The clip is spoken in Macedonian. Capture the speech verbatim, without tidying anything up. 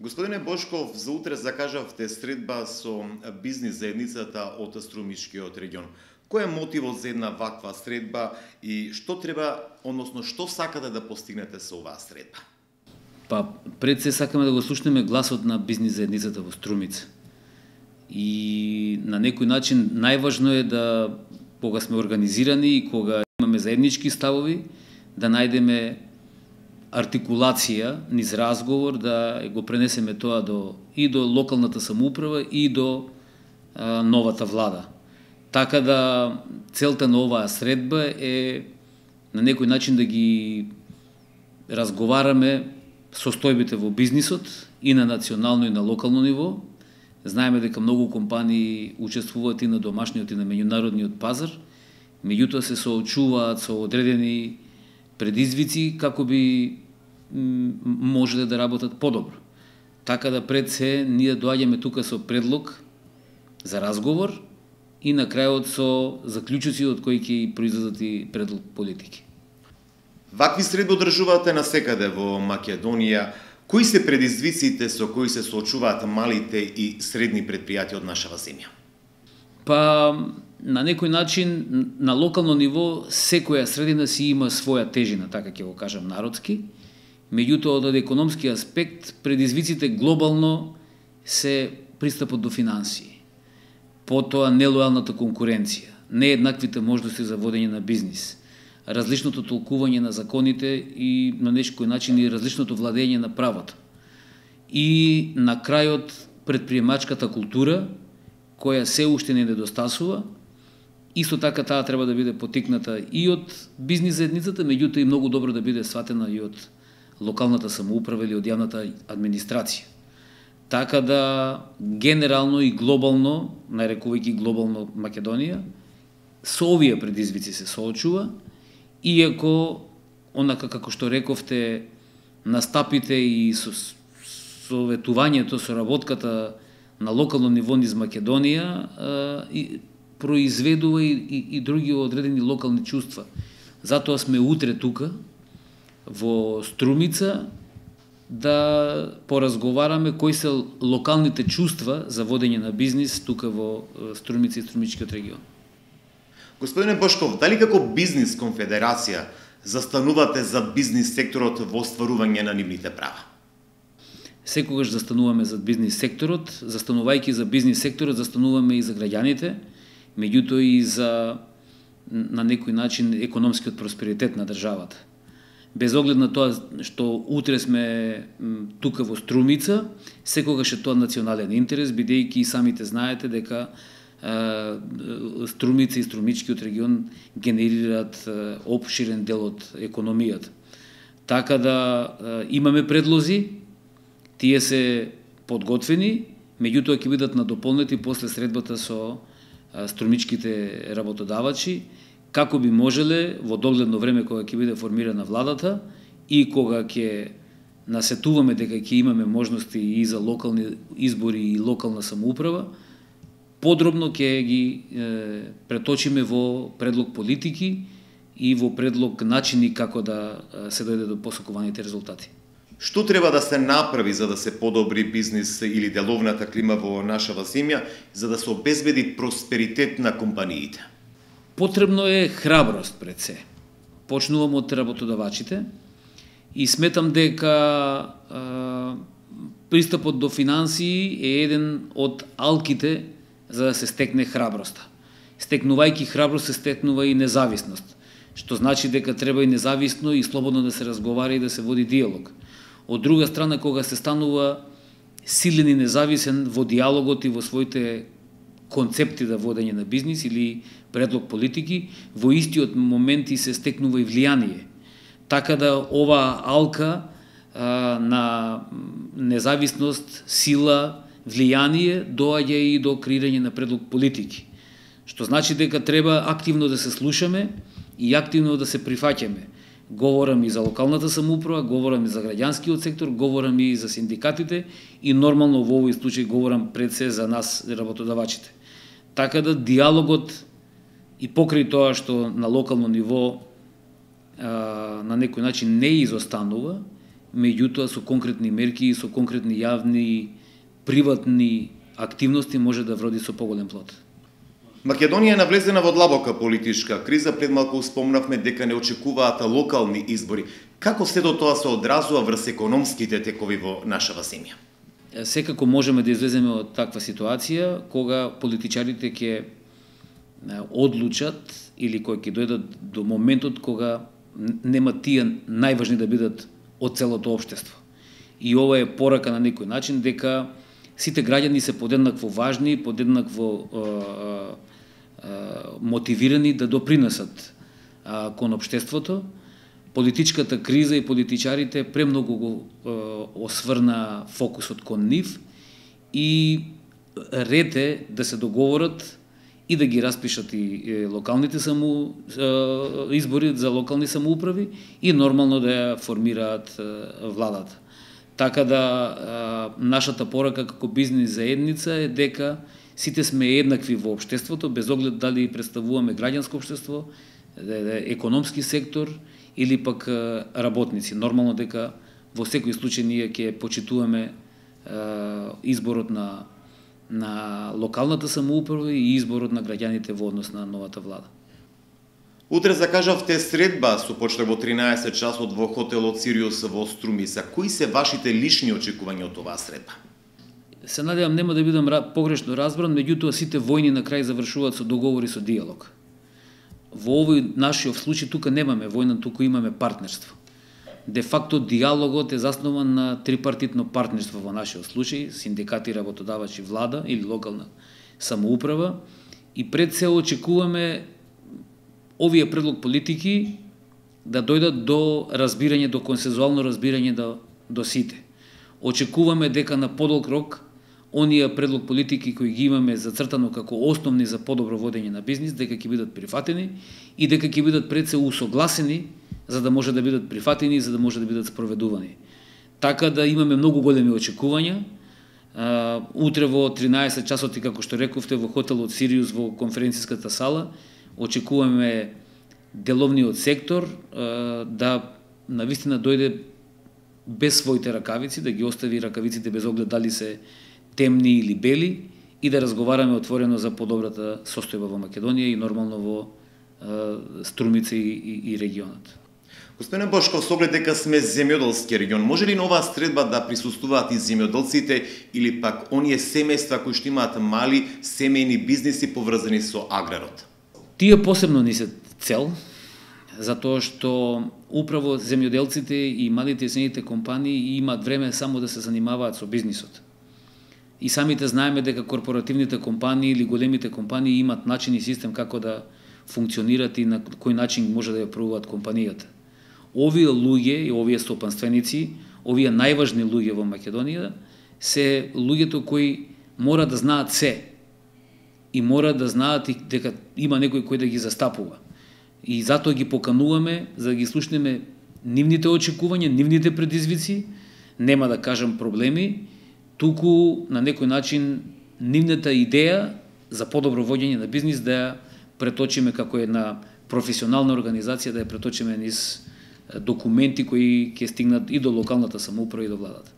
Господине Бошков, за утре закажавте средба со бизнис заедницата од Струмичкиот регион. Кој е мотивот за една ваква средба и што треба, односно што сакате да постигнете со оваа средба? Па, пред се сакаме да го слушнеме гласот на бизнис заедницата во Струмица. И на некој начин најважно е да, кога сме организирани и кога имаме заеднички ставови, да најдеме артикулација низ разговор, да го пренесеме тоа до, и до локалната самоуправа и до а, новата влада. Така да целта на оваа средба е на некој начин да ги разговараме состојбите во бизнисот и на национално и на локално ниво. Знаеме дека многу компании учествуваат и на домашниот и на меѓународниот пазар, меѓутоа се соочуваат со одредени предизвици како би можеле да работат подобро. Така да пред се ние доаѓаме тука со предлог за разговор и на крајот со заклучоци од кои ќе произлезат и предлог политики. Вакви средби одржувате насекаде во Македонија. Кои се предизвиците со кои се соочуваат малите и средни предпријатија од нашава земја? Па, на некој начин, на локално ниво, секоја средина си има своја тежина, така ќе го кажам народски. Меѓутоа, од економски аспект, предизвиците глобално се пристапот до финансии. Потоа, нелојалната конкуренција, нееднаквите можности за водење на бизнис, различното толкување на законите и на некој начин и различното владење на правото. И на крајот, предприемачката култура, која се уште не недостасува, исто така таа треба да биде потикната и од бизнис заедницата, меѓутоа и многу добро да биде сватена и од локалната самоуправа или од јавната администрација. Така да генерално и глобално, нарекувајќи глобално Македонија, со овие предизвици се соочува, иако онака како што рековте, настапите и со советувањето, со работката на локално ниво низ Македонија и произведува и, и, и други одредени локални чувства. Затоа сме утре тука, во Струмица, да поразговараме кои се локалните чувства за водење на бизнис тука во Струмица и Струмичкиот регион. Господине Бошков, дали како бизнис конфедерација застанувате за бизнис секторот во остварување на нивните права? Секогаш застануваме за бизнис секторот, застанувајќи за бизнис секторот, застануваме и за граѓаните, меѓутоа и за, на некој начин, економскиот просперитет на државата. Без оглед на тоа што утре сме тука во Струмица, секогаш е тоа национален интерес, бидејќи и самите знаете дека е, Струмица и Струмичкиот регион генерираат е, опширен дел од економијата. Така да е, имаме предлози, тие се подготвени, меѓутоа ќе бидат надополнети после средбата со струмичките работодавачи, како би можеле во догледно време кога ќе биде формирана владата и кога ќе насетуваме дека ќе имаме можности и за локални избори и локална самоуправа, подробно ќе ги е, преточиме во предлог политики и во предлог начини како да се дојде до посакуваните резултати. Што треба да се направи за да се подобри бизнис или деловната клима во нашава земја, за да се обезбеди просперитет на компаниите? Потребно е храброст пред се. Почнувам од работодавачите и сметам дека а, пристапот до финансии е еден од алките за да се стекне храброста. Стекнувајќи храброст се стекнува и независност, што значи дека треба и независно и слободно да се разговара и да се води диалог. Од друга страна, кога се станува силен и независен во диалогот и во своите концепти за водење на бизнис или предлог политики, во истиот момент и се стекнува и влијание. Така да ова алка а, на независност, сила, влијание доаѓа и до креирање на предлог политики. Што значи дека треба активно да се слушаме и активно да се прифаќаме. Говорам и за локалната самоуправа, говорам и за граѓанскиот сектор, говорам и за синдикатите и нормално во овој случај говорам пред се за нас работодавачите. Така да диалогот и покрај тоа што на локално ниво а, на некој начин не изостанува, меѓутоа со конкретни мерки и со конкретни јавни, приватни активности може да вроди со поголем плод. Македонија е навлезена во длабока политичка криза, пред малку спомнавме дека не очекуваат локални избори. Како сето тоа се одразува врз економските текови во нашава земја? Секако можеме да излеземе од таква ситуација кога политичарите ќе одлучат или кои ќе дојдат до моментот кога нема тие најважни да бидат од целото општество. И ова е порака на некој начин дека сите граѓани се подеднакво важни, подеднакво е, е, мотивирани да допринесат е, кон општеството. Политичката криза и политичарите премногу го е, осврна фокусот кон нив и ред е да се договорат и да ги распишат и локалните саму избори за локални самоуправи и нормално да ја формираат владата. Така да нашата порака како бизнис заедница е дека сите сме еднакви во општеството, без оглед дали представуваме граѓанско општество, економски сектор или пак работници. Нормално дека во секој случај ние ќе почитуваме изборот на на локалната самоуправа и изборот на граѓаните во однос на новата влада. Утре закажавте средба со почеток во тринаесет часот во хотелот Сириус во Струмица. Кои се вашите лични очекувања од оваа средба? Се надевам нема да бидам погрешно разбран, меѓутоа сите војни на крај завршуваат со договори со диалог. Во овој нашиот случај тука немаме војна, туку имаме партнерство. Де факто диалогот е заснован на трипартитно партнерство во нашиот случај, синдикати, работодавачи, влада или локална самоуправа, и пред се очекуваме овие предлог политики да дојдат до разбирање, до консензуално разбирање до, до сите. Очекуваме дека на подолг рок оние предлог политики кои ги имаме зацртано како основни за подобро водење на бизнис, дека ќе бидат прифатени и дека ќе бидат пред се усогласени за да може да бидат прифатени и за да може да бидат спроведувани. Така да имаме многу големи очекувања. Утре во тринаесет часот, и како што рековте, во хотелот Сириус во конференцијската сала, очекуваме деловниот сектор да навистина дојде без своите ракавици, да ги остави ракавиците без оглед дали се темни или бели и да разговараме отворено за подобрата состојба во Македонија и нормално во Струмица и, и, и регионот. Господине Бошков, со оглед дека сме земјоделски регион, може ли на оваа средба да присуствуваат и земјоделците или пак оние семејства кои што имаат мали семејни бизниси поврзани со аграрот? Тие посебно ни се цел, затоа што управо земјоделците и малите и средните компании имаат време само да се занимаваат со бизнисот. И самите знаеме дека корпоративните компании или големите компании имаат начин и систем како да функционират и на кој начин може да ја правуваат компанијата. Овие луѓе и овие стопанственици, овие најважни луѓе во Македонија, се луѓето кои мора да знаат се и мора да знаат и дека има некој кој да ги застапува. И затоа ги покануваме за да ги слушнеме нивните очекувања, нивните предизвици, нема да кажам проблеми, туку на некој начин нивната идеја за подобро водење на бизнис да ја преточиме како една професионална организација, да ја преточиме низ документи кои ќе стигнат и до локалната самоуправа и до владата.